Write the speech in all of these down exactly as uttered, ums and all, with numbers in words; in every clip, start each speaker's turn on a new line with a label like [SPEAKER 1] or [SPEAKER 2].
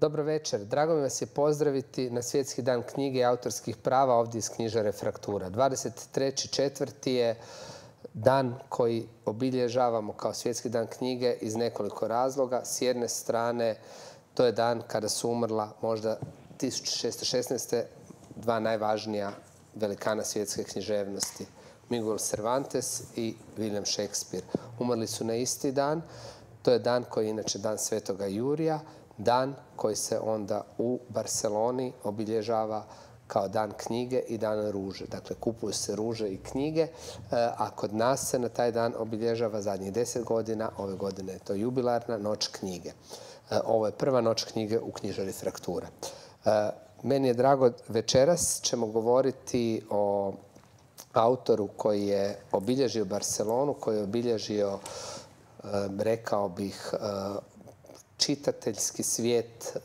[SPEAKER 1] Dobro večer. Drago mi vas je pozdraviti na Svjetski dan knjige i autorskih prava ovdje iz knjižare Fraktura. dvadeset treći četvrti je dan koji obilježavamo kao Svjetski dan knjige iz nekoliko razloga. S jedne strane, to je dan kada su umrla možda tisuću šesto šesnaeste. dva najvažnija velikana svjetske književnosti, Miguel Cervantes i William Shakespeare. Umrli su na isti dan. To je dan koji je inače dan Svetoga Jurija, dan koji se onda u Barceloni obilježava kao dan knjige i dan ruže. Dakle, kupuju se ruže i knjige, a kod nas se na taj dan obilježava zadnjih deset godina. Ove godine je to jubilarna noć knjige. Ovo je prva noć knjige u knjižari Fraktura. Meni je drago, večeras ćemo govoriti o autoru koji je obilježio Barcelonu, koji je obilježio, rekao bih, čitateljski svijet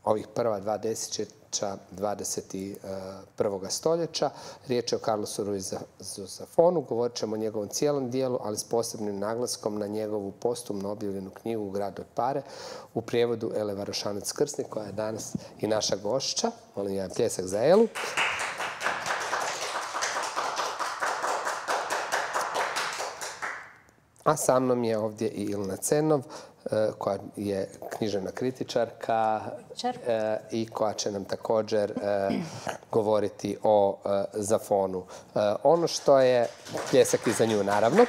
[SPEAKER 1] ovih prva dva desetljeća dvadeset prvog stoljeća. Riječ je o Carlosu Ruizu Zafonu. Govorit ćemo o njegovom cijelom dijelu, ali s posebnim naglaskom na njegovu postumno objavljenu knjigu Grad od pare u prijevodu Ele Varošanac-Krsnik, koja je danas i naša gošća. Molim jedan pljesak za Elu. A sa mnom je ovdje i Ilna Cenov, koja je književna kritičarka i koja će nam također govoriti o Zafonu. Ono što je, pljesak i za nju naravno,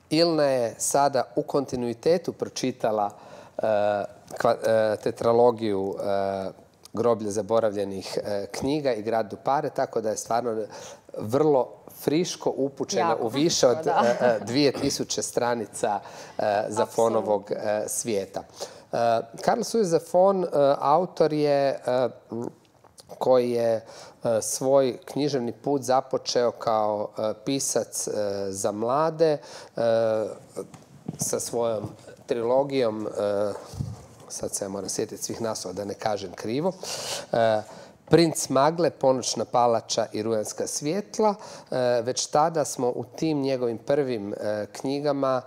[SPEAKER 1] Ilna je sada u kontinuitetu pročitala tetralogiju Groblje zaboravljenih knjiga i Grad do pare, tako da je stvarno vrlo friško upućena u više od dvije tisuće stranica Zafonovog svijeta. Carlos Ruiz Zafón autor je koji je svoj književni put započeo kao pisac za mlade sa svojom trilogijom, sad se ja moram sjetiti svih naslova da ne kažem krivo, Princ Magle, Ponoćna palača i Rujanska svjetla. Već tada smo u tim njegovim prvim knjigama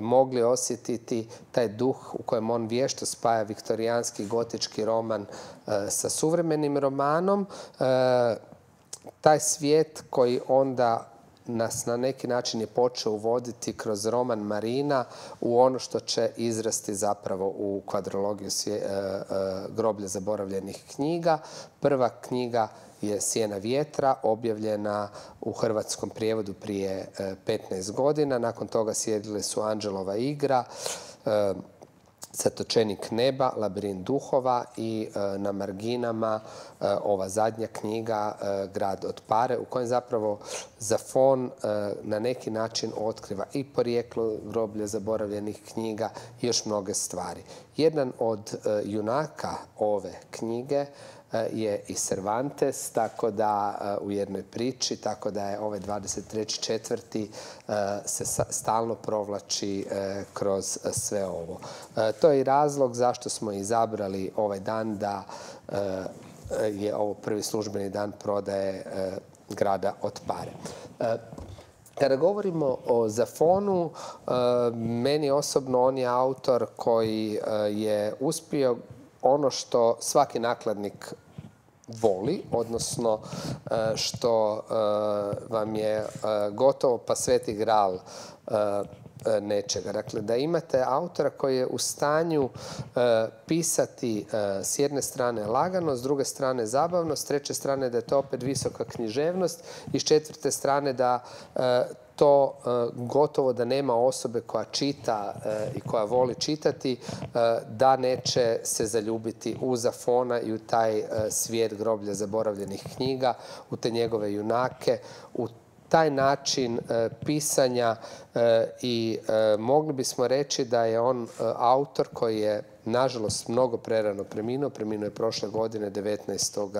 [SPEAKER 1] mogli osjetiti taj duh u kojem on vješto spaja viktorijanski gotički roman sa suvremenim romanom. Taj svijet koji onda nas na neki način je počeo uvoditi kroz roman Marina u ono što će izrasti zapravo u kvadrologiju Groblje zaboravljenih knjiga. Prva knjiga je Sjena vjetra, objavljena u hrvatskom prijevodu prije petnaest godina. Nakon toga slijedile su Anđelova igra, Zatočenik neba, Labirint duhova i na marginama ova zadnja knjiga Grad od pare, u kojem zapravo Zafón na neki način otkriva i porijeklo Groblja zaboravljenih knjiga i još mnoge stvari. Jedan od junaka ove knjige je i Cervantes, tako da u jednoj priči, tako da je ovaj dvadeset treći četvrti se stalno provlači kroz sve ovo. To je i razlog zašto smo izabrali ovaj dan da je ovo prvi službeni dan prodaje Grada od pare. Kada govorimo o Zafonu, meni osobno on je autor koji je uspio ono što svaki nakladnik voli, odnosno što vam je gotovo pa sveti gral nečega. Dakle, da imate autora koji je u stanju pisati s jedne strane lagano, s druge strane zabavno, s treće strane da je to opet visoka književnost i s četvrte strane da to gotovo da nema osobe koja čita i koja voli čitati, da neće se zaljubiti u Zafona i u taj svijet Groblja zaboravljenih knjiga, u te njegove junake, u taj način pisanja i mogli bismo reći da je on autor koji je nažalost mnogo prerano preminuo. Preminuo je prošle godine devetnaestog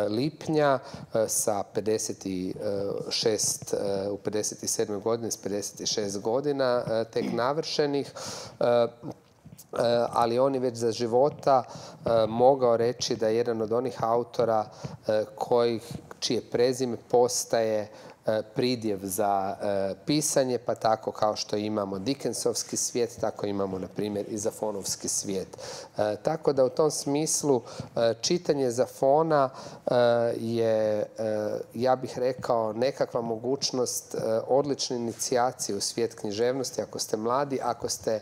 [SPEAKER 1] lipnja sa pedeset šest, u pedeset sedmoj godini s pedeset šest godina tek navršenih. Ali on je već za života mogao reći da je jedan od onih autora čije prezime postaje pridjev za pisanje, pa tako kao što imamo Dickensovski svijet, tako imamo, na primjer, i Zafonovski svijet. Tako da u tom smislu čitanje Zafona je, ja bih rekao, nekakva mogućnost odlične inicijacije u svijet književnosti ako ste mladi, ako ste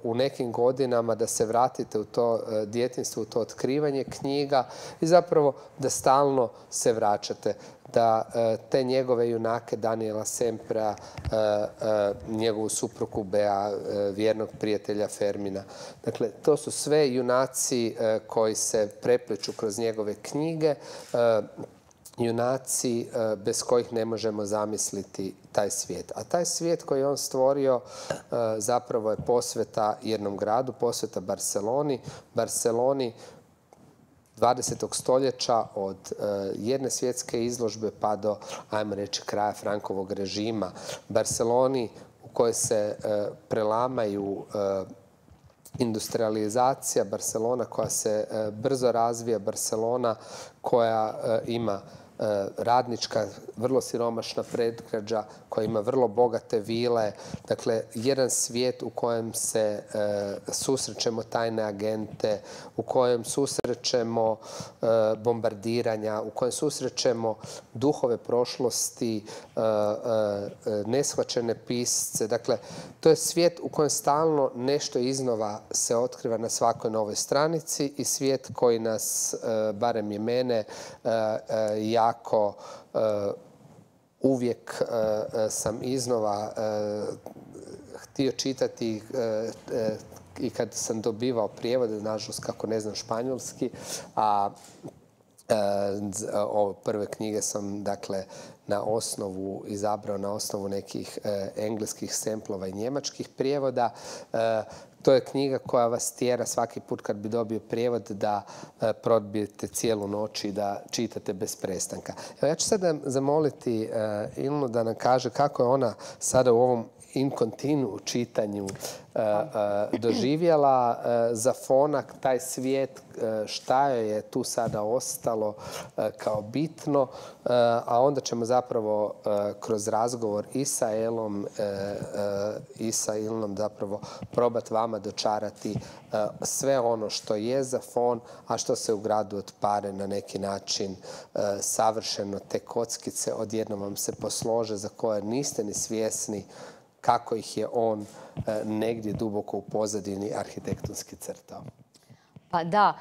[SPEAKER 1] u nekim godinama da se vratite u to djetinjstvo, u to otkrivanje knjiga i zapravo da stalno se vraćate, da te njegove junake Daniela Semprea, njegovu suprugu Bea, vjernog prijatelja Fermina. Dakle, to su sve junaci koji se prepliču kroz njegove knjige, junaci bez kojih ne možemo zamisliti taj svijet. A taj svijet koji je on stvorio zapravo je posveta jednom gradu, posveta Barceloni. Barceloni dvadesetog stoljeća od jedne svjetske izložbe pa do, ajmo reći, kraja Frankovog režima. Barceloni u kojoj se prelamaju industrializacija, Barcelona koja se brzo razvija, Barcelona koja ima radnička, vrlo siromašna predgrađa, koja ima vrlo bogate vile. Dakle, jedan svijet u kojem se susrećemo tajne agente, u kojem susrećemo bombardiranja, u kojem susrećemo duhove prošlosti, neshvaćene pisce. Dakle, to je svijet u kojem stalno nešto iznova se otkriva na svakoj novoj stranici i svijet koji nas, barem je mene, ja Ako uvijek sam iznova htio čitati i kad sam dobivao prijevode, nažalost kako ne znam španjolski, a ove prve knjige sam dakle na osnovu izabrao na osnovu nekih engleskih semplova i njemačkih prijevoda. To je knjiga koja vas tjera svaki put kad bi dobio prijevod da probijete cijelu noć i da čitate bez prestanka. Evo, ja ću sada zamoliti Ilnu da nam kaže kako je ona sada u ovom in continu čitanju doživjela Zafona, taj svijet, šta joj je tu sada ostalo kao bitno, a onda ćemo zapravo kroz razgovor i sa Elom i sa Ilnom zapravo probati vama dočarati sve ono što je Zafon, a što se u gradu od Pare na neki način savršeno, te kockice odjednom vam se poslože za koje niste ni svjesni kako ih je on negdje duboko u pozadini arhitektonski crtao.
[SPEAKER 2] Pa da,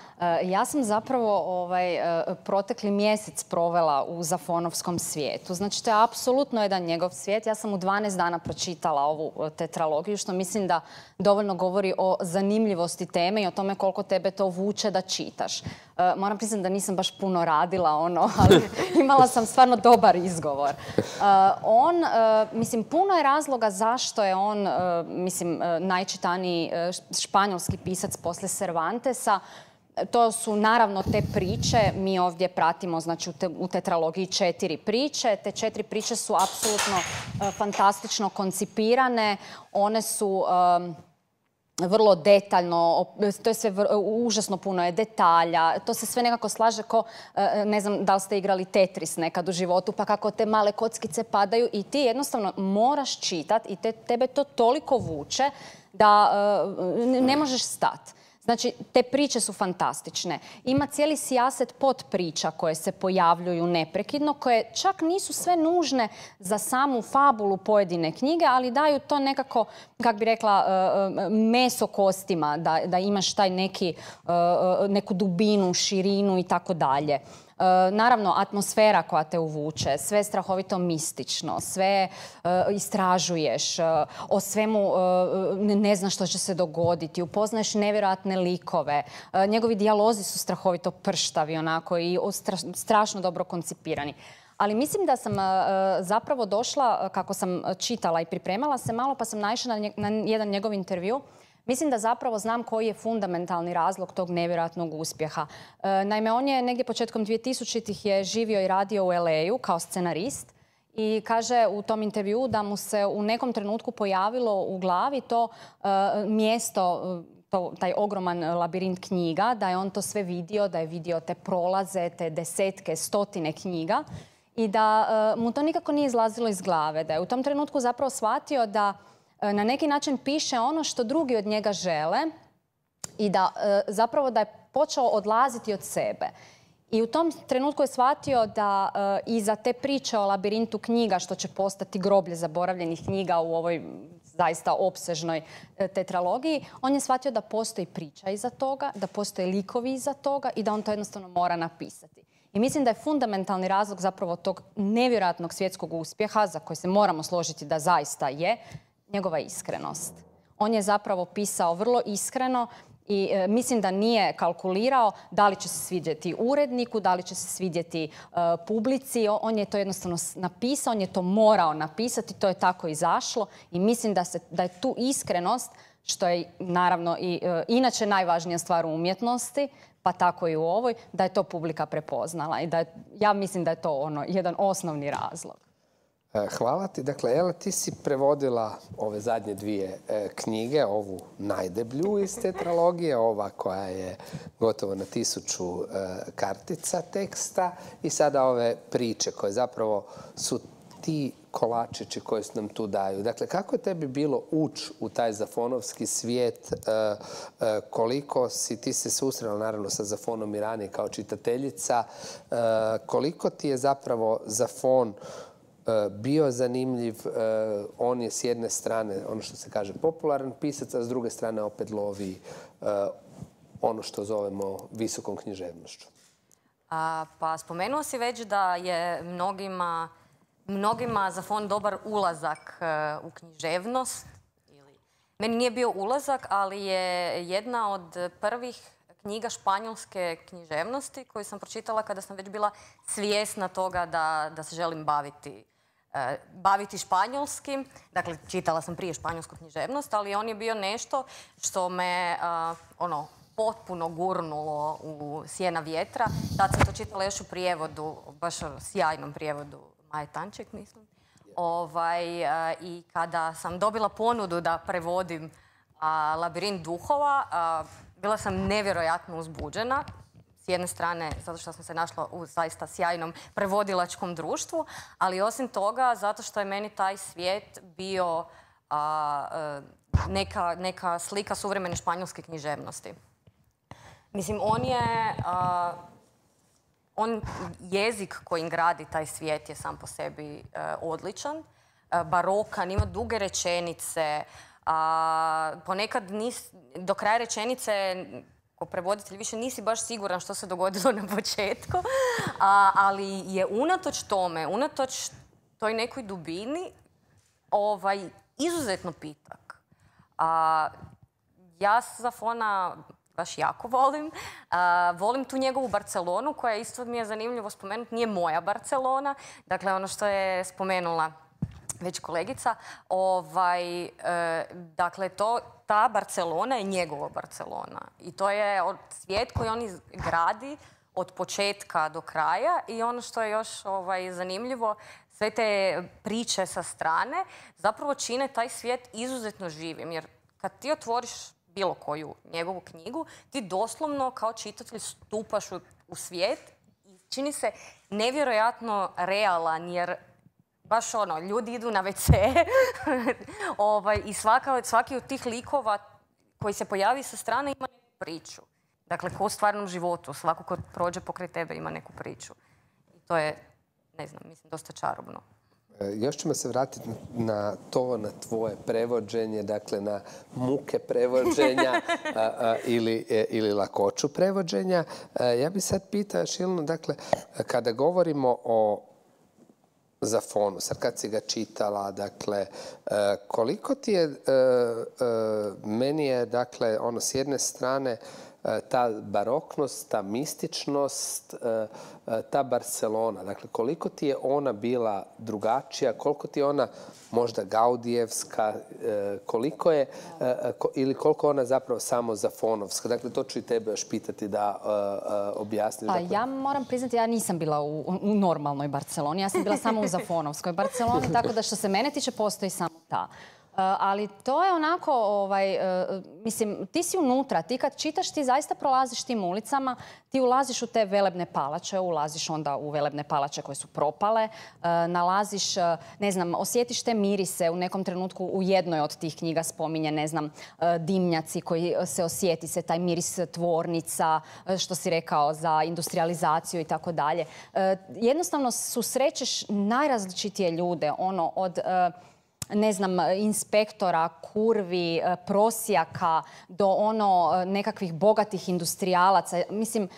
[SPEAKER 2] ja sam zapravo ovaj, protekli mjesec provela u Zafonovskom svijetu. Znači, to je apsolutno jedan njegov svijet. Ja sam u dvanaest dana pročitala ovu tetralogiju, što mislim da dovoljno govori o zanimljivosti teme i o tome koliko tebe to vuče da čitaš. Moram priznati da nisam baš puno radila ono, ali imala sam stvarno dobar izgovor. On, mislim, puno je razloga zašto je on, mislim, najčitaniji španjolski pisac posle Cervantesa. To su naravno te priče, mi ovdje pratimo, znači, u tetralogiji četiri priče. Te četiri priče su apsolutno fantastično koncipirane. One su vrlo detaljno, to je sve užasno puno je detalja, to se sve nekako slaže ko, ne znam da li ste igrali Tetris nekad u životu, pa kako te male kockice padaju i ti jednostavno moraš čitati i te, tebe to toliko vuče da ne možeš stati. Znači, te priče su fantastične. Ima cijeli sijaset podpriča koje se pojavljuju neprekidno, koje čak nisu sve nužne za samu fabulu pojedine knjige, ali daju to nekako, kak bi rekla, meso kostima, da, da imaš taj neki, neku dubinu, širinu i tako dalje. Naravno, atmosfera koja te uvuče, sve je strahovito mistično, sve istražuješ, o svemu ne znaš što će se dogoditi, upoznaješ nevjerojatne likove. Njegovi dijalozi su strahovito prštavi onako i strašno dobro koncipirani. Ali mislim da sam zapravo došla, kako sam čitala i pripremala se malo, pa sam naišla na jedan njegov intervju. Mislim da zapravo znam koji je fundamentalni razlog tog nevjerojatnog uspjeha. Naime, on je negdje početkom dvije-tisućitih je živio i radio u el ej-u kao scenarist i kaže u tom intervjuu da mu se u nekom trenutku pojavilo u glavi to mjesto, to, taj ogroman labirint knjiga, da je on to sve vidio, da je vidio te prolaze, te desetke, stotine knjiga. i da mu to nikako nije izlazilo iz glave. Da je u tom trenutku zapravo shvatio da na neki način piše ono što drugi od njega žele i da zapravo da je počeo odlaziti od sebe. I u tom trenutku je shvatio da iza te priče o labirintu knjiga, što će postati groblje zaboravljenih knjiga u ovoj zaista opsežnoj tetralogiji, on je shvatio da postoji priča iza toga, da postoje likovi iza toga i da on to jednostavno mora napisati. I mislim da je fundamentalni razlog zapravo tog nevjerojatnog svjetskog uspjeha, za koji se moramo složiti da zaista je, njegova iskrenost. On je zapravo pisao vrlo iskreno i e, mislim da nije kalkulirao da li će se svidjeti uredniku, da li će se svidjeti e, publici. On je to jednostavno napisao, on je to morao napisati, to je tako izašlo i mislim da, se, da je tu iskrenost, što je naravno i e, inače najvažnija stvar u umjetnosti, pa tako i u ovoj, da je to publika prepoznala i da je, ja mislim da je to ono jedan osnovni razlog.
[SPEAKER 1] Hvala ti. Dakle, Ela, ti si prevodila ove zadnje dvije e, knjige, ovu najdeblju iz tetralogije, ova koja je gotovo na tisuću e, kartica teksta i sada ove priče koje zapravo su ti kolačići koji se nam tu daju. Dakle, kako je tebi bilo ući u taj zafonovski svijet? E, e, koliko si ti se susrela naravno sa Zafonom i ranije kao čitateljica? E, koliko ti je zapravo Zafon bio zanimljiv? On je s jedne strane, ono što se kaže, popularan pisac, a s druge strane opet lovi ono što zovemo visokom književnošću.
[SPEAKER 3] A, pa spomenuo si već da je mnogima, mnogima Zafon dobar ulazak u književnost. Meni nije bio ulazak, ali je jedna od prvih knjiga španjolske književnosti koju sam pročitala kada sam već bila svjesna toga da, da se želim baviti baviti španjolskim. Dakle, čitala sam prije španjolsku književnost, ali on je bio nešto što me uh, ono, potpuno gurnulo u sjena vjetra. Tad sam to čitala još u prijevodu, baš sjajnom prijevodu Maje Tanček, mislim. Ovaj, uh, I kada sam dobila ponudu da prevodim uh, Labirint duhova, uh, bila sam nevjerojatno uzbuđena. S jedne strane, zato što sam se našla u zaista sjajnom prevodilačkom društvu, ali osim toga, zato što je meni taj svijet bio a, neka, neka slika suvremene španjolske književnosti. Mislim, on je... A, on, jezik kojim gradi taj svijet je sam po sebi a, odličan, a, barokan, ima duge rečenice, a, ponekad nis, do kraja rečenice... Ko prevoditelj više nisi baš siguran što se dogodilo na početku, a, ali je unatoč tome, unatoč toj nekoj dubini, ovaj, izuzetno pitak. A, ja Zafona baš jako volim. A, volim tu njegovu Barcelonu, koja isto mi je zanimljivo spomenuti, nije moja Barcelona. Dakle, ono što je spomenula već kolegica, ovaj, e, dakle, to, ta Barcelona je njegova Barcelona. I to je svijet koji on gradi od početka do kraja i ono što je još ovaj, zanimljivo, sve te priče sa strane zapravo čine taj svijet izuzetno živim. Jer kad ti otvoriš bilo koju njegovu knjigu, ti doslovno kao čitatelj stupaš u, u svijet i čini se nevjerojatno realan, jer baš ono, ljudi idu na ve ce ovaj, i svaka, svaki od tih likova koji se pojavi sa strane ima neku priču. Dakle, ko u stvarnom životu, svako ko prođe pokraj tebe ima neku priču. I to je, ne znam, mislim, dosta čarobno.
[SPEAKER 1] Još ćemo se vratiti na to, na tvoje prevođenje, dakle na muke prevođenja a, a, ili, e, ili lakoću prevođenja. A, ja bih sad pitao, Šilno, dakle, kada govorimo o Zafonu, sad kad si ga čitala, dakle, koliko ti je, meni je, dakle, ono, s jedne strane, ta baroknost, ta mističnost, ta Barcelona, dakle, koliko ti je ona bila drugačija, koliko ti je ona možda gaudijevska, koliko je, ili koliko ona zapravo samo zafonovska? Dakle, to ću i tebe još pitati da objasniš.
[SPEAKER 2] Pa
[SPEAKER 1] dakle...
[SPEAKER 2] ja moram priznati, ja nisam bila u, u normalnoj Barceloni, ja sam bila samo u zafonovskoj Barceloni, tako da što se mene tiče postoji samo ta. ali to je onako, ovaj, mislim, ti si unutra, ti kad čitaš, ti zaista prolaziš tim ulicama, ti ulaziš u te velebne palače, ulaziš onda u velebne palače koje su propale, nalaziš, ne znam, osjetiš te mirise. U nekom trenutku u jednoj od tih knjiga spominje, ne znam, dimnjaci koji se osjeti se, taj miris tvornica, što si rekao, za industrializaciju i tako dalje. Jednostavno susrećeš najrazličitije ljude, ono, od ne znam, inspektora, kurvi, prosjaka, do ono nekakvih bogatih industrijalaca. Mislim,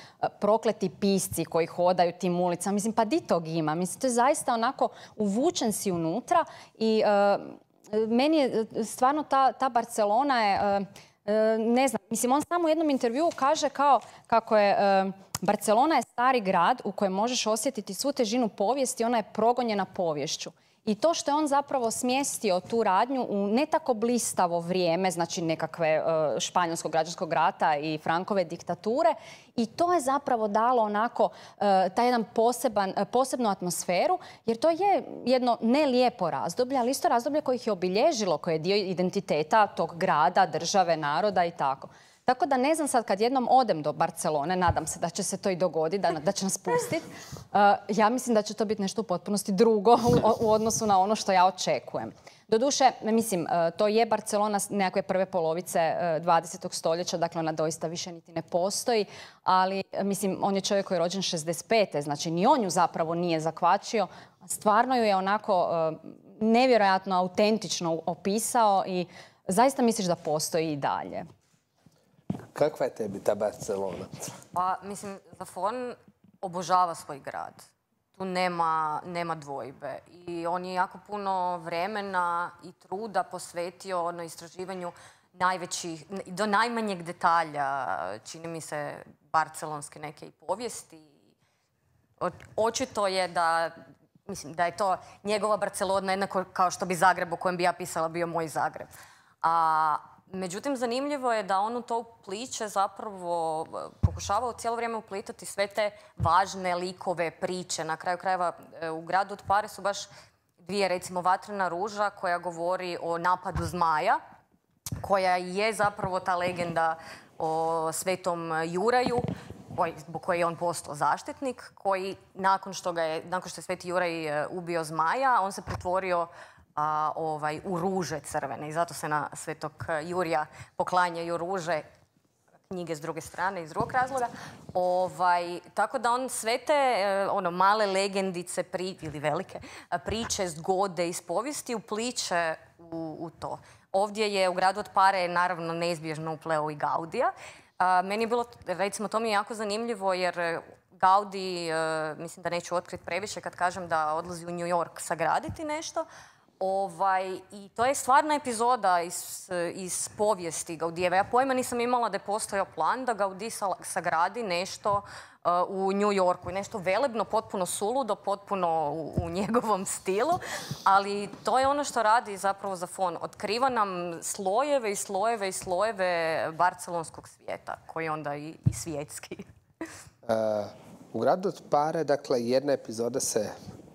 [SPEAKER 2] prokleti pisci koji hodaju tim ulicama. Mislim, pa di tog ima? Mislim, to je zaista onako uvučen si unutra i uh, meni je stvarno ta, ta Barcelona je, uh, ne znam, mislim, on samo u jednom intervjuu kaže kao kako je uh, Barcelona je stari grad u kojem možeš osjetiti svu težinu povijesti, ona je progonjena poviješću. I to što je on zapravo smjestio tu radnju u ne tako blistavo vrijeme, znači nekakve uh, španjolskog građanskog rata i Frankove diktature, i to je zapravo dalo onako uh, taj jedan poseban, uh, posebnu atmosferu, jer to je jedno ne lijepo razdoblje, ali isto razdoblje koje ih je obilježilo, koje je dio identiteta tog grada, države, naroda i tako. Tako da ne znam sad, kad jednom odem do Barcelone, nadam se da će se to i dogoditi, da, da će nas pustiti, uh, ja mislim da će to biti nešto u potpunosti drugo u, u odnosu na ono što ja očekujem. Doduše, mislim, uh, to je Barcelona nekakve prve polovice uh, dvadesetog stoljeća, dakle ona doista više niti ne postoji, ali mislim, on je čovjek koji je rođen šezdeset pete, znači ni on ju zapravo nije zakvačio, stvarno ju je onako uh, nevjerojatno autentično opisao i zaista misliš da postoji i dalje.
[SPEAKER 1] Kakva je tebi ta Barcelona?
[SPEAKER 3] Pa, mislim, Zafón obožava svoj grad. Tu nema, nema dvojbe. I on je jako puno vremena i truda posvetio ono istraživanju najvećih, do najmanjeg detalja, čini mi se, barcelonske neke i povijesti. Očito je da, mislim, da je to njegova Barcelona jednako kao što bi Zagreb o kojem bi ja pisala bio moj Zagreb. A međutim, zanimljivo je da on u to upliče zapravo pokušavao cijelo vrijeme uplitati sve te važne likove, priče. Na kraju krajeva u gradu od Pare su baš dvije, recimo Vatrena ruža koja govori o napadu zmaja, koja je zapravo ta legenda o svetom Juraju, zbog koje je on postao zaštitnik, koji nakon što, ga je, nakon što je sveti Juraj ubio zmaja, on se pretvorio A, ovaj, u ruže crvene i zato se na svetog Jurija poklanjaju ruže, knjige s druge strane iz drugog razloga. Ovaj, tako da on sve te ono, male legendice pri, ili velike priče, zgode iz povijesti upliče u, u to. Ovdje je u gradu od Pare naravno neizbježno upleo i Gaudija. A, meni je bilo, recimo, to mi je jako zanimljivo jer Gaudi, mislim da neću otkriti previše kad kažem da odlazi u New York sagraditi nešto. Ovaj, I to je stvarna epizoda iz, iz povijesti Gaudijeve. Ja pojma nisam imala da je postojao plan da Gaudí sagradi nešto uh, u New Yorku. Nešto velebno, potpuno suludo, potpuno u, u njegovom stilu. Ali to je ono što radi zapravo Zafón. Otkriva nam slojeve i slojeve i slojeve barcelonskog svijeta, koji je onda i, i svjetski.
[SPEAKER 1] Uh, u gradu od Pare, dakle, jedna epizoda se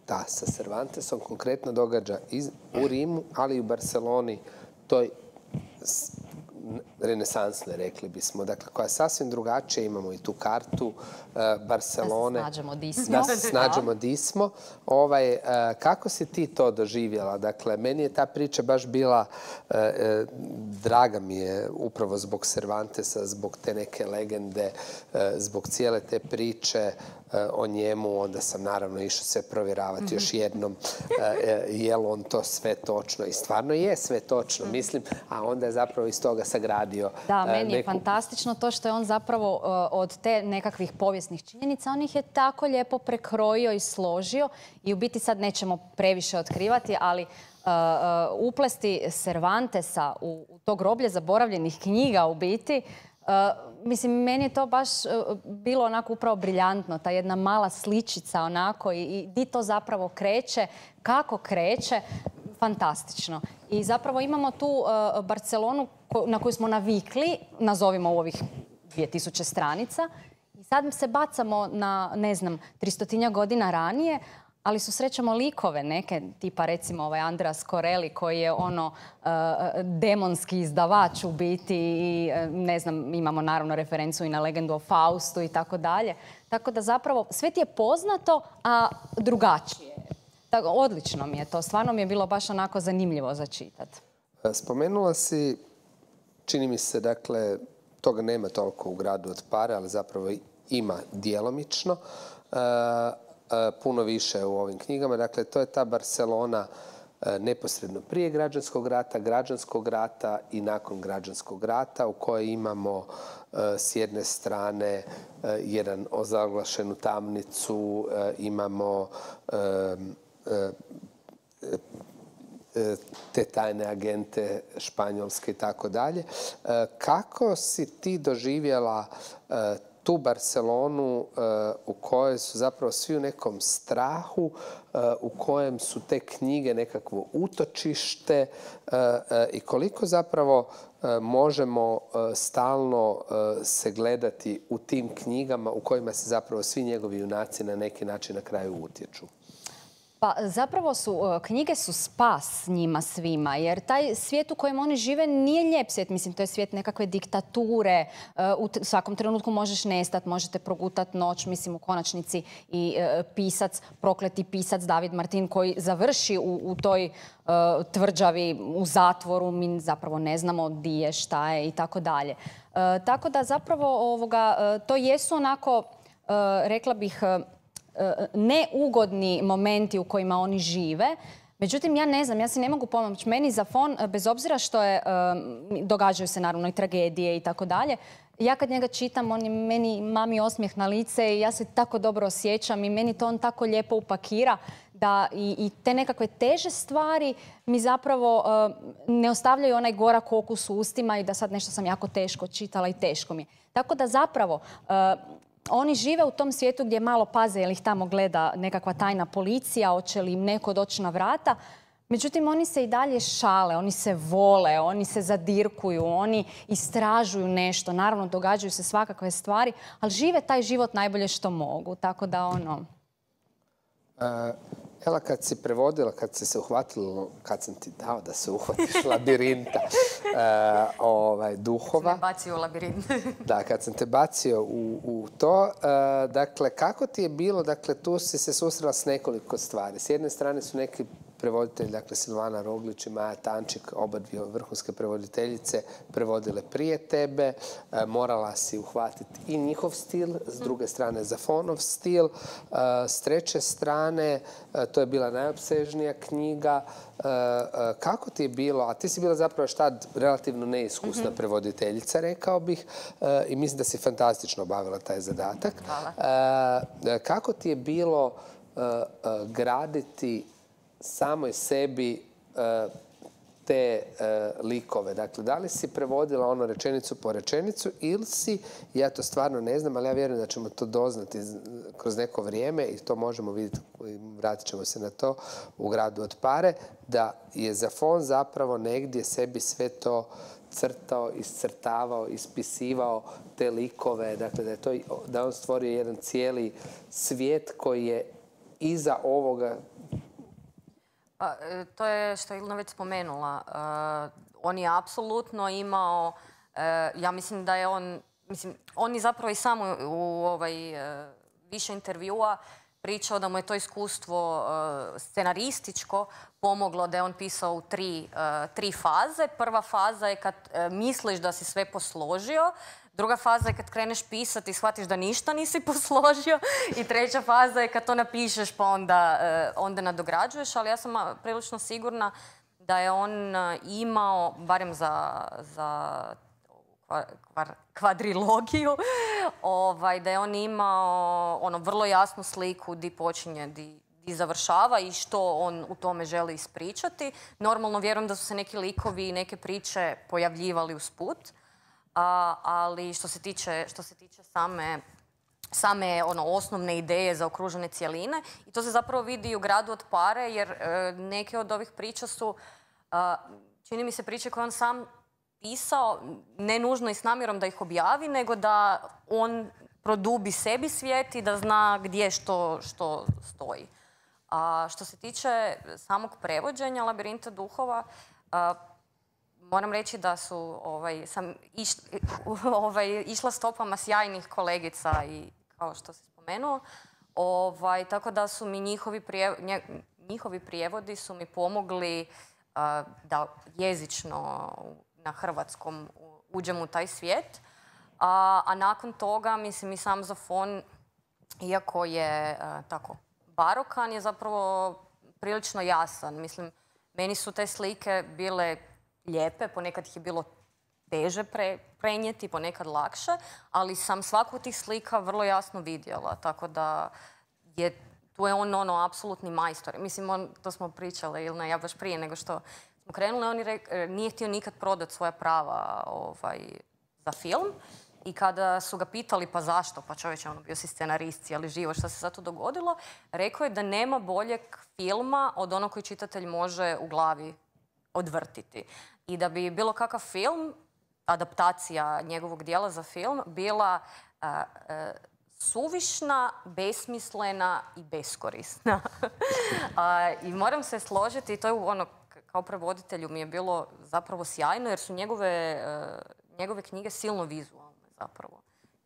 [SPEAKER 1] da, sa Cervantesom konkretno događa iz, u Rimu, ali i u Barceloni, toj renesansne, rekli bismo, dakle, koja je sasvim drugačija. Imamo i tu kartu uh, Barcelone.
[SPEAKER 2] Da se snađemo di smo.
[SPEAKER 1] Da se snađemo di smo. Ovaj, uh, kako si ti to doživjela? Dakle, meni je ta priča baš bila, uh, uh, draga mi je upravo zbog Cervantesa, zbog te neke legende, uh, zbog cijele te priče o njemu. Onda sam naravno išao sve provjeravati još jednom je li on to sve točno. I stvarno je sve točno, mislim, a onda je zapravo iz toga sagradio.
[SPEAKER 2] Da, meni je fantastično to što je on zapravo od te nekakvih povijesnih činjenica, on ih je tako lijepo prekrojio i složio i u biti sad nećemo previše otkrivati, ali uh, uh, uplesti Cervantesa u, u to groblje zaboravljenih knjiga u biti, Uh, mislim, meni je to baš uh, bilo onako upravo briljantno, ta jedna mala sličica onako i, i di to zapravo kreće, kako kreće, fantastično. I zapravo imamo tu uh, Barcelonu ko, na koju smo navikli, nazovimo u ovih dvije tisuće stranica, i sad se bacamo na, ne znam, tristotinja godina ranije, ali susrećemo likove neke, tipa recimo ovaj Andreas Corelli koji je ono uh, demonski izdavač u biti i ne znam, imamo naravno referencu i na legendu o Faustu i tako dalje. Tako da zapravo sve ti je poznato, a drugačije. Tako, odlično mi je to, stvarno mi je bilo baš onako zanimljivo za čitat.
[SPEAKER 1] Spomenula si, čini mi se, dakle, toga nema toliko u Gradu od pare, ali zapravo ima djelomično. Uh, puno više u ovim knjigama. Dakle, to je ta Barcelona neposredno prije građanskog rata, građanskog rata i nakon građanskog rata, u kojoj imamo s jedne strane jedan ozaglašenu tamnicu, imamo te tajne agente španjolske i tako dalje. Kako si ti doživjela tu Barcelonu u kojoj su zapravo svi u nekom strahu, u kojem su te knjige nekakvo utočište i koliko zapravo možemo stalno se gledati u tim knjigama u kojima se zapravo svi njegovi junaci na neki način na kraju utječu?
[SPEAKER 2] Pa zapravo su, knjige su spas njima svima, jer taj svijet u kojem oni žive nije lijep svijet. Mislim, to je svijet nekakve diktature. U svakom trenutku možeš nestat, možete progutat noć. Mislim, u konačnici i pisac, prokleti pisac David Martin koji završi u, u toj uh, tvrđavi, u zatvoru. Mi zapravo ne znamo di je, šta je i tako dalje. Tako da zapravo ovoga, to jesu onako, uh, rekla bih, neugodni momenti u kojima oni žive. Međutim, ja ne znam, ja si ne mogu pomoći. Meni Zafon, bez obzira što je, događaju se naravno i tragedije i tako dalje, ja kad njega čitam, on je meni mami osmijeh na lice i ja se tako dobro osjećam i meni to on tako lijepo upakira da i, i te nekakve teže stvari mi zapravo uh, ne ostavljaju onaj gorak okus u ustima i da sad nešto sam jako teško čitala i teško mi je. Tako da zapravo uh, oni žive u tom svijetu gdje malo paze jer ih tamo gleda nekakva tajna policija, hoće li im neko doći na vrata. Međutim, oni se i dalje šale, oni se vole, oni se zadirkuju, oni istražuju nešto. Naravno, događaju se svakakve stvari, ali žive taj život najbolje što mogu. Tako da ono...
[SPEAKER 1] Uh... Ela, kad si prevodila, kad si se uhvatila, kad sam ti dao da se uhvatiš labirinta uh, ovaj, duhova.
[SPEAKER 3] Kad sam me bacio u labirint.
[SPEAKER 1] Da, kad sam te bacio u, u to. Uh, dakle, kako ti je bilo, dakle, tu si se susrela s nekoliko stvari. S jedne strane su neki prevoditelji, dakle Silvana Roglić i Maja Tančik, oba dvije vrhunske prevoditeljice, prevodile prije tebe. E, morala si uhvatiti i njihov stil, s druge strane Zafonov stil. E, s treće strane, e, to je bila najopsežnija knjiga. E, e, kako ti je bilo, a ti si bila zapravo štad relativno neiskusna mm-hmm. prevoditeljica, rekao bih, e, i mislim da si fantastično obavila taj zadatak.
[SPEAKER 3] Hvala.
[SPEAKER 1] E, kako ti je bilo e, e, graditi samoj sebi uh, te uh, likove. Dakle, da li si prevodila ono rečenicu po rečenicu ili si, ja to stvarno ne znam, ali ja vjerujem da ćemo to doznati kroz neko vrijeme i to možemo vidjeti, vratit ćemo se na to, u Gradu od pare, da je Zafon zapravo negdje sebi sve to crtao, iscrtavao, ispisivao te likove. Dakle, da je to, da on stvorio jedan cijeli svijet koji je iza ovoga.
[SPEAKER 3] Pa, to je što je Ilona već spomenula. Uh, on je apsolutno imao, uh, ja mislim da je on, mislim, on je zapravo i samo u ovaj, uh, više intervjua pričao da mu je to iskustvo uh, scenarističko pomoglo, da je on pisao u tri, uh, tri faze. Prva faza je kad uh, misliš da si sve posložio. Druga faza je kad kreneš pisati i shvatiš da ništa nisi posložio. I treća faza je kad to napišeš pa onda, onda nadograđuješ. Ali ja sam prilično sigurna da je on imao, barem za, za kvar, kvadrilogiju, ovaj, da je on imao ono, vrlo jasnu sliku di počinje, di, di završava i što on u tome želi ispričati. Normalno vjerujem da su se neki likovi i neke priče pojavljivali usput. A, ali što se tiče, što se tiče same, same ono, osnovne ideje za okružene cijeline, i to se zapravo vidi i u Gradu od pare, jer e, neke od ovih priča su, a, čini mi se, priče koje on sam pisao, ne nužno i s namjerom da ih objavi, nego da on produbi sebi svijet i da zna gdje što, što stoji. A što se tiče samog prevođenja Labirinta duhova, a, moram reći da su ovaj, sam iš, ovaj, išla stopama sjajnih kolegica i kao što se spomenuo, ovaj, tako da su mi njihovi, prijev, njihovi prijevodi su mi pomogli a, da jezično na hrvatskom uđem u taj svijet. A, a nakon toga, mislim, i sam Zafon, iako je a, tako barokan, je zapravo prilično jasan. Mislim, meni su te slike bile lijepe, ponekad ih je bilo teže pre, prenijeti, ponekad lakše, ali sam svaku od tih slika vrlo jasno vidjela, tako da je, tu je on ono, apsolutni majstor. Mislim, on, to smo pričali, ili ne, ja baš prije nego što smo krenuli, on je rek, nije htio nikad prodati svoja prava ovaj, za film. I kada su ga pitali pa zašto, pa čovječe, ono, bio si scenarist, ali živo, šta se sad tu dogodilo, rekao je da nema boljeg filma od onog koji čitatelj može u glavi odvrtiti. I da bi bilo kakav film, adaptacija njegovog dijela za film, bila uh, uh, suvišna, besmislena i beskorisna. uh, I moram se složiti, i to je ono, kao prevoditelju mi je bilo zapravo sjajno, jer su njegove, uh, njegove knjige silno vizualne zapravo.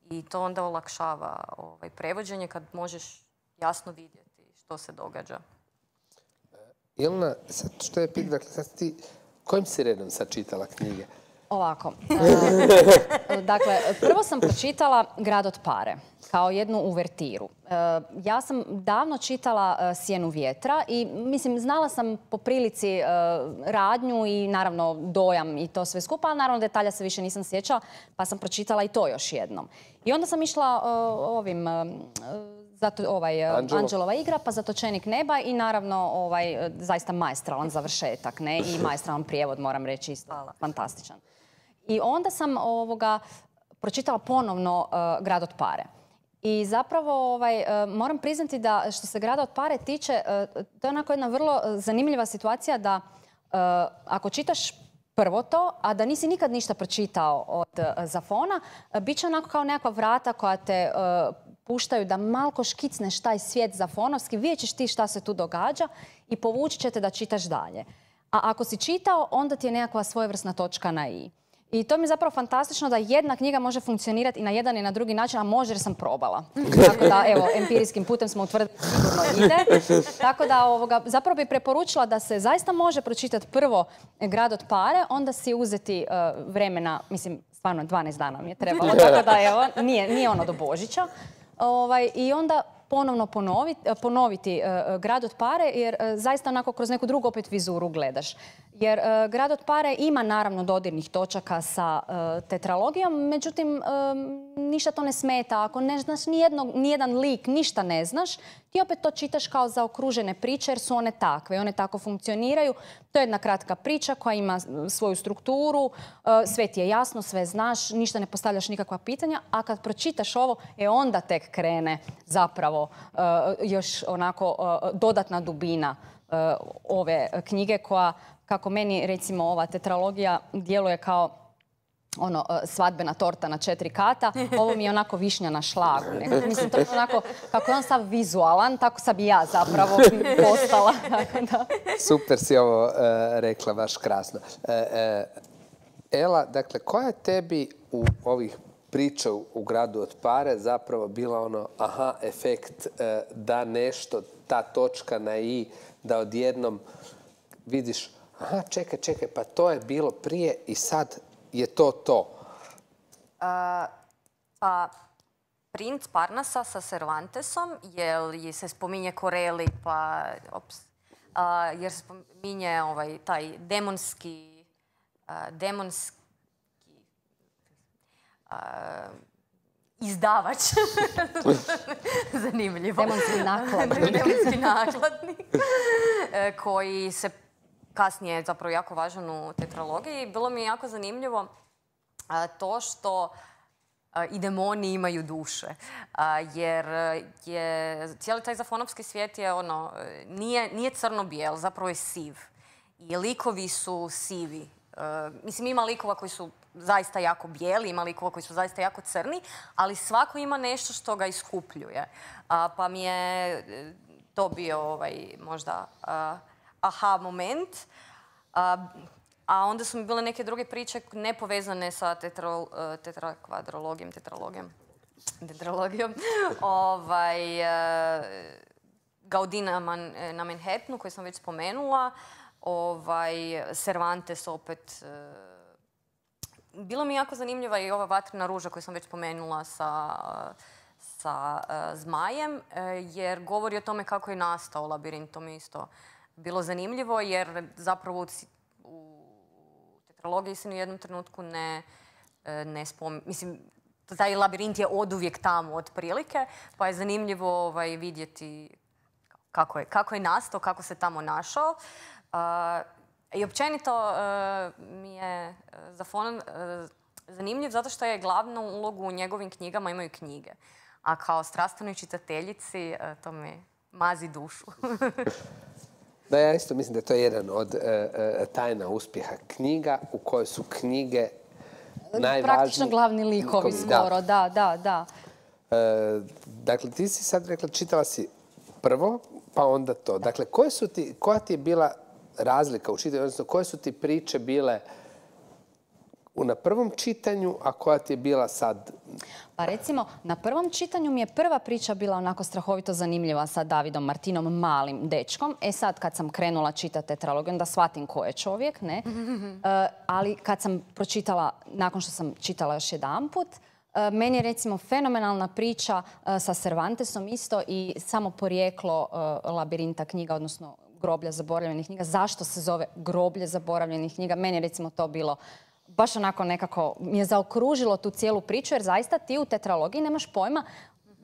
[SPEAKER 3] I to onda olakšava ovaj, prevođenje kad možeš jasno vidjeti što se događa.
[SPEAKER 1] Ilna, sad što je pitanje, dakle, sad ti kojim si redom sad čitala knjige?
[SPEAKER 2] Ovako. Dakle, prvo sam pročitala Grad od pare kao jednu uvertiru. Ja sam davno čitala Sjenu vjetra i mislim, znala sam po prilici radnju i naravno dojam i to sve skupa, ali naravno detalja se više nisam sjećala, pa sam pročitala i to još jednom. I onda sam išla ovim... Zato, ovaj,
[SPEAKER 1] Anđelo.
[SPEAKER 2] Anđelova igra, pa Zatočenik neba i naravno ovaj, zaista maestralan završetak, ne? I maestralan prijevod, moram reći, isto Hvala. Fantastičan. I onda sam ovoga, pročitala ponovno uh, Grad od pare. I zapravo ovaj, uh, moram priznati da što se Grada od pare tiče, uh, to je onako jedna vrlo zanimljiva situacija da uh, ako čitaš prvo to, a da nisi nikad ništa pročitao od uh, Zafona, uh, bit će onako kao nekakva vrata koja te uh, puštaju da malko škicneš taj svijet zafonovski, vidjet ćeš ti šta se tu događa i povući će te da čitaš dalje. A ako si čitao, onda ti je nekakva svojevrsna točka na i. I to mi je zapravo fantastično da jedna knjiga može funkcionirati i na jedan i na drugi način, a može jer sam probala. Tako da, evo, empirijskim putem smo utvrdili da sigurno ide. Tako da, ovoga, zapravo bi preporučila da se zaista može pročitati prvo Grad od pare, onda si uzeti uh, vremena, mislim, stvarno dvanaest dana mi je trebalo, tako da, evo, nije, nije ono do Božića. Ovaj, I onda ponovno ponoviti, ponoviti uh, Grad od pare, jer uh, zaista onako kroz neku drugu opet vizuru gledaš. Jer uh, Grad od pare ima naravno dodirnih točaka sa uh, tetralogijom, međutim um, ništa to ne smeta. Ako ne znaš nijednog, nijedan lik, ništa ne znaš, ti opet to čitaš kao zaokružene priče jer su one takve i one tako funkcioniraju. To je jedna kratka priča koja ima svoju strukturu, uh, sve ti je jasno, sve znaš, ništa ne postavljaš nikakva pitanja, a kad pročitaš ovo, e onda tek krene zapravo uh, još onako uh, dodatna dubina uh, ove knjige koja, kako meni recimo ova tetralogija djeluje kao ono, svadbena torta na četiri kata, ovo mi je onako višnja na šlagu. Nekako. Mislim, to je onako, kako je on sav vizualan, tako sam i ja zapravo postala.
[SPEAKER 1] Super si ovo uh, rekla, baš krasno. Uh, uh, Ela, dakle, koja je tebi u ovih priča u Gradu od pare zapravo bila ono aha efekt uh, da nešto, ta točka na i, da odjednom vidiš aha, čekaj, čekaj, pa to je bilo prije i sad je to to?
[SPEAKER 3] Uh, pa, Princ Parnasa sa Cervantesom, jer se spominje Corelli, pa, ops, uh, jer se spominje ovaj, taj demonski, uh, demonski uh, izdavač. Zanimljivo.
[SPEAKER 2] Demonski nakladnik.
[SPEAKER 3] Demonski nakladnik, koji se kasnije zapravo jako važan u tetralogiji. Bilo mi je jako zanimljivo to što i demoni imaju duše. Jer je cijeli taj zafonovski svijet je ono, nije, nije crno-bijel, zapravo je siv. I likovi su sivi. Mislim, ima likova koji su zaista jako bijeli, ima likova koji su zaista jako crni, ali svako ima nešto što ga iskupljuje. Pa mi je to bio ovaj, možda uh, aha moment. Uh, a onda su mi bile neke druge priče nepovezane sa tetro, uh, tetrakvadrologijom, tetralogijom, tetralogijom. ovaj, uh, Gaudí na, Man, na Manhattanu, koji sam već spomenula. Ovaj, Cervantes opet. Uh, bilo mi jako zanimljiva i ova vatrena ruža koju sam već spomenula sa... sa uh, zmajem, uh, jer govori o tome kako je nastao labirint. To mi isto bilo zanimljivo, jer zapravo u, u tetralogiji se ni u jednom trenutku ne, uh, ne spominje. Mislim, taj labirint je oduvijek tamo, otprilike, pa je zanimljivo ovaj, vidjeti kako je, kako je nastao, kako se tamo našao. Uh, I općenito uh, mi je Zafonon uh, zanimljiv zato što je glavnu ulogu u njegovim knjigama imaju knjige. A kao strastvenoj čitateljici to mi mazi dušu.
[SPEAKER 1] Da, ja isto mislim da je to jedan od uh, tajna uspjeha knjiga u kojoj su knjige najvažnije.
[SPEAKER 2] Praktično glavni likovi skoro, da, da, da.
[SPEAKER 1] Uh, dakle, ti si sad rekla, čitala si prvo, pa onda to. Dakle, koje su ti, koja ti je bila razlika u čitanju, odnosno koje su ti priče bile na prvom čitanju, a koja ti je bila sad?
[SPEAKER 2] Pa recimo, na prvom čitanju mi je prva priča bila onako strahovito zanimljiva sa Davidom Martinom, malim dečkom. E sad, kad sam krenula čitati tetralogiju, onda shvatim ko je čovjek, ne? Uh, ali kad sam pročitala, nakon što sam čitala još jedanput, uh, meni je recimo fenomenalna priča uh, sa Cervantesom isto i samo porijeklo uh, labirinta knjiga, odnosno groblja zaboravljenih knjiga. Zašto se zove groblje zaboravljenih knjiga? Meni je recimo to bilo baš onako nekako mi je zaokružilo tu cijelu priču, jer zaista ti u tetralogiji nemaš pojma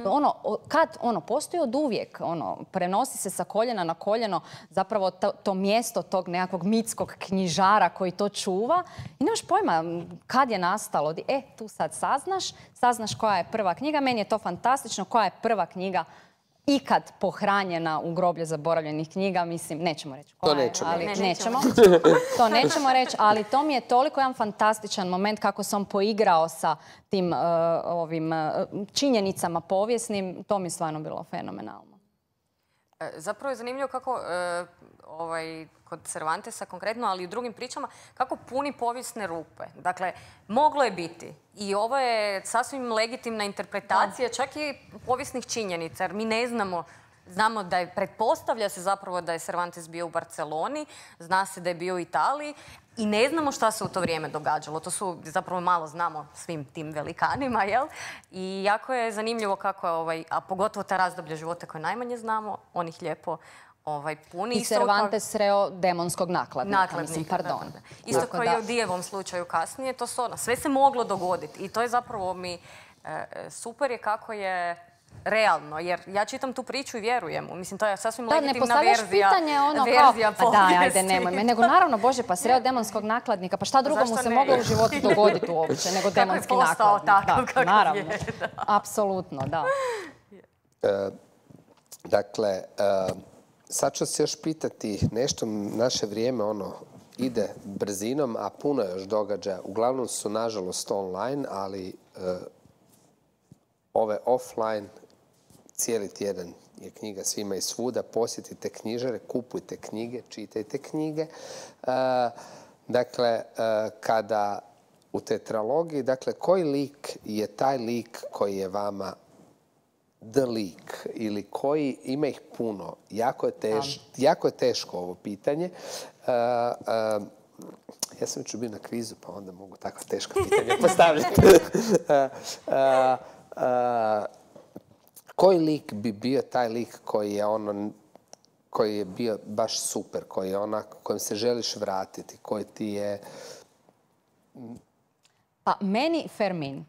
[SPEAKER 2] ono, kad ono postoji od uvijek, ono, prenosi se sa koljena na koljeno zapravo to, to mjesto tog nekakvog mitskog knjižara koji to čuva i nemaš pojma kad je nastalo. E, tu sad saznaš, saznaš koja je prva knjiga. Meni je to fantastično, koja je prva knjiga ikad pohranjena u groblje zaboravljenih knjiga, mislim, nećemo reći koja je, ali
[SPEAKER 3] ne,
[SPEAKER 2] nećemo. To nećemo reći, ali to mi je toliko jedan fantastičan moment kako sam poigrao sa tim uh, ovim uh, činjenicama povijesnim, to mi je stvarno bilo fenomenalno.
[SPEAKER 3] Zapravo je zanimljivo kako uh, ovaj, kod Cervantesa konkretno, ali i u drugim pričama, kako puni povijesne rupe. Dakle, moglo je biti. I ovo je sasvim legitimna interpretacija, čak i povijesnih činjenica, jer mi ne znamo, znamo da je, pretpostavlja se zapravo da je Cervantes bio u Barceloni, zna se da je bio u Italiji i ne znamo šta se u to vrijeme događalo. To su, zapravo malo znamo svim tim velikanima, jel? I jako je zanimljivo kako je, ovaj, a pogotovo ta razdoblja života koje najmanje znamo, on ih lijepo ovaj, puni.
[SPEAKER 2] I Cervantes sreo demonskog nakladnika,
[SPEAKER 3] nakladnika,
[SPEAKER 2] mislim, pardon.
[SPEAKER 3] Da, da, da. Isto kao i u Dijevom slučaju kasnije, to su ono, sve se moglo dogoditi. I to je zapravo mi e, super je kako je realno, jer ja čitam tu priču i vjerujem. Mislim, to je sasvim
[SPEAKER 2] da,
[SPEAKER 3] legitimna
[SPEAKER 2] ne
[SPEAKER 3] verzija,
[SPEAKER 2] pitanje ono
[SPEAKER 3] verzija
[SPEAKER 2] kao, pa daj, ajde, nemoj me. Nego naravno, Bože, pa sreo demonskog nakladnika, pa šta drugo mu se
[SPEAKER 3] ne?
[SPEAKER 2] moglo u životu dogoditi uopće nego demonski
[SPEAKER 3] kako je postao
[SPEAKER 2] nakladnik.
[SPEAKER 3] takav,
[SPEAKER 2] da,
[SPEAKER 3] kako
[SPEAKER 2] naravno,
[SPEAKER 3] je, da.
[SPEAKER 2] apsolutno, da.
[SPEAKER 1] E, dakle, e, sad ću se još pitati nešto, naše vrijeme ono ide brzinom, a puno je još događaja. Uglavnom su, nažalost, online, ali e, ove offline, cijeli tjedan je knjiga svima i svuda. Posjetite knjižare, kupujte knjige, čitajte knjige. E, dakle, e, kada u tetralogiji, dakle, koji lik je taj lik koji je vama the lik ili koji, ima ih puno. Jako je, teš, jako je teško ovo pitanje. Uh, uh, ja sam već bio na kvizu, pa onda mogu takva teška pitanja postavljati. uh, uh, uh, koji lik bi bio taj lik koji je ono, koji je bio baš super, koji je onak kojem se želiš vratiti, koji ti je...
[SPEAKER 2] Pa meni Fermin.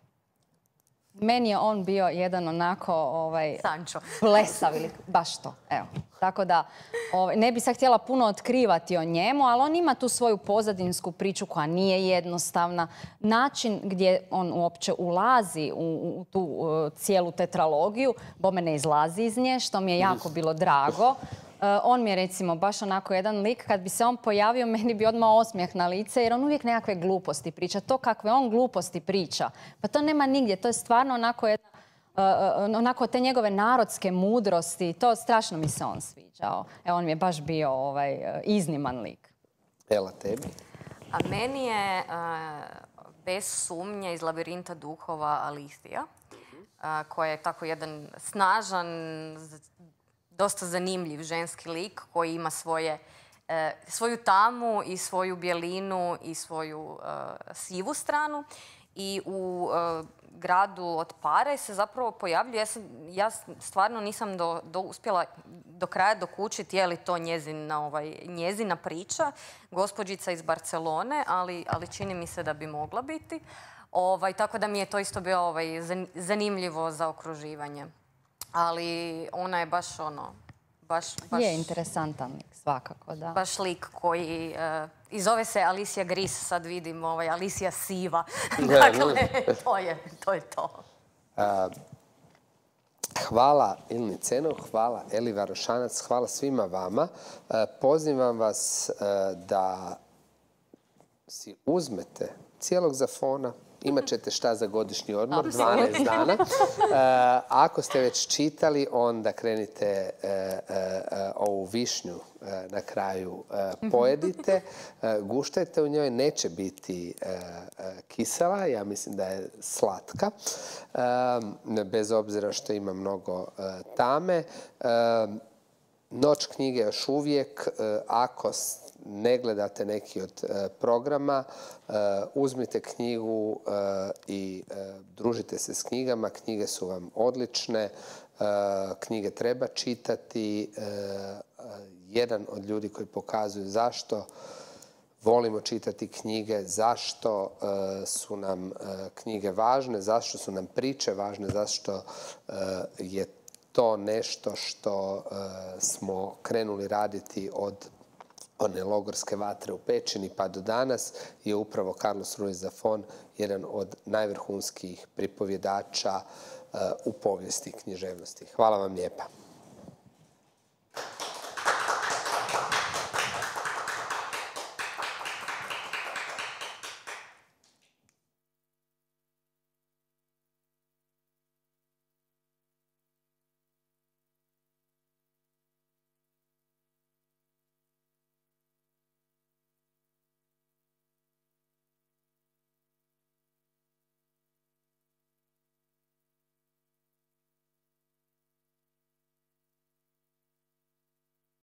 [SPEAKER 2] Meni je on bio jedan onako ovaj,
[SPEAKER 3] Sancho.
[SPEAKER 2] blesav ili baš to. Evo. Tako da ovaj, ne bi sad htjela puno otkrivati o njemu, ali on ima tu svoju pozadinsku priču koja nije jednostavna. Način gdje on uopće ulazi u, u tu uh, cijelu tetralogiju, bome ne izlazi iz nje, što mi je jako bilo drago. Uh, on mi je recimo baš onako jedan lik, kad bi se on pojavio, meni bi odmah osmijeh na lice, jer on uvijek nekakve gluposti priča. To kakve on gluposti priča, pa to nema nigdje. To je stvarno onako jedna onako te njegove narodske mudrosti. To strašno mi se on sviđao. Evo, on mi je baš bio ovaj, izniman lik.
[SPEAKER 1] Ela, tebi?
[SPEAKER 3] A meni je bez sumnje iz Labirinta duhova Alicija, koja je tako jedan snažan, dosta zanimljiv ženski lik koji ima svoje, svoju tamu i svoju bjelinu i svoju sivu stranu. I u gradu od Pare se zapravo pojavljuje, ja, sam, ja stvarno nisam do, do, uspjela do kraja dokučiti je li to njezina, ovaj, njezina priča, gospođica iz Barcelone, ali, ali čini mi se da bi mogla biti. Ovaj, tako da mi je to isto bilo ovaj, zanimljivo za okruživanje. Ali ona je baš ono... Baš, baš,
[SPEAKER 2] je interesantan lik, svakako, da.
[SPEAKER 3] Baš lik koji... Uh, I zove se Alicia Gris, sad vidim, ovaj, Alicia Siva. Dakle, to je to. Je to.
[SPEAKER 1] Uh, hvala Ilni Cenov, hvala Eli Varošanac, hvala svima vama. Uh, pozivam vas uh, da si uzmete cijelog Zafona. Imat ćete šta za godišnji odmor, dvanaest dana. E, ako ste već čitali, onda krenite e, e, ovu višnju e, na kraju e, pojedite. E, guštajte u njoj, neće biti e, e, kisela, ja mislim da je slatka. E, bez obzira što ima mnogo e, tame. E, Noć knjige još uvijek, e, ako ne gledate neki od e, programa, e, uzmite knjigu e, i e, družite se s knjigama. Knjige su vam odlične, e, knjige treba čitati. E, jedan od ljudi koji pokazuju zašto volimo čitati knjige, zašto e, su nam e, knjige važne, zašto su nam priče važne, zašto e, je to nešto što e, smo krenuli raditi od one logorske vatre u Pećini pa do danas, je upravo Carlos Ruiz Zafón, jedan od najvrhunskih pripovjedača uh, u povijesti književnosti. Hvala vam lijepa.